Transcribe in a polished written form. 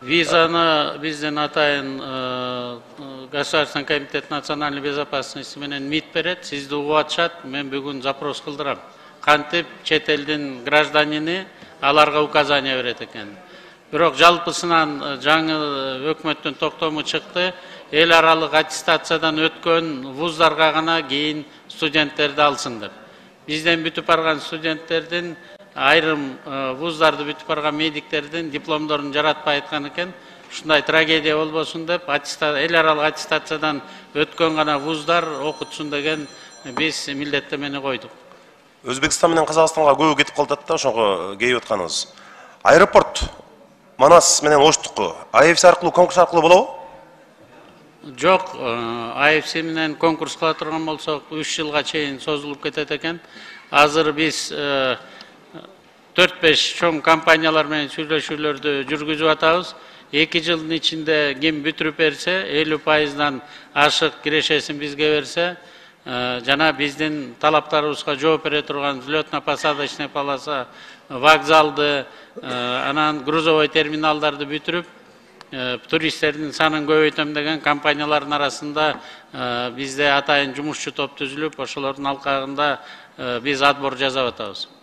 Визаны бизден атайын Государственный комитет национальной безопасности менен МИД берет, сизди угуп атышат, мен бүгүн запрос кылдырам. Кантип чет элдин гражданини аларга указания берет экен. Бирок жалпысынан жаңы өкмөттүн токтому чыкты, эл аралык аттестациядан өткөн вуздарга гана кийин студенттерди алсын деп. Бизден бүтүп барган студенттердин айрым вуздарды бүтүп барган медиктердин дипломдорун жаратпай айткан экен. Ушундай трагедия болбосун деп, эл аралык аттестациядан өткөн гана вуздар окутсун деген биз милдеттемени койдук. Өзбекстан менен Казакстанга көбү кетип калат да, ошого кейип атканыбыз. Аэропорт Манас менен Оштуку АФС аркылуу, конкурс аркылуу болобу? Жок, АФС менен конкурс кыла турган болсок 3 жылга чейин созулуп кетет экен. Азыр биз 4-5 чоң компаниялар менен сүйлөшүүлөрдү жүргүзүп атабыз. 2 жылдын ичинде ким бүтүрүп берсе, 50%дан ашык кирешесин бизге берсе, жана биздин талаптарыбызга жооп бере турган взлетно-посадочный полоса, вокзалды, анан грузовой терминалдарды бүтүрүп, туристтердин санын көбөйтөм деген компаниялардын арасында бизде атайын жумушчу топ түзүлүп, ошолордун алкагында биз отбор жасап атабыз.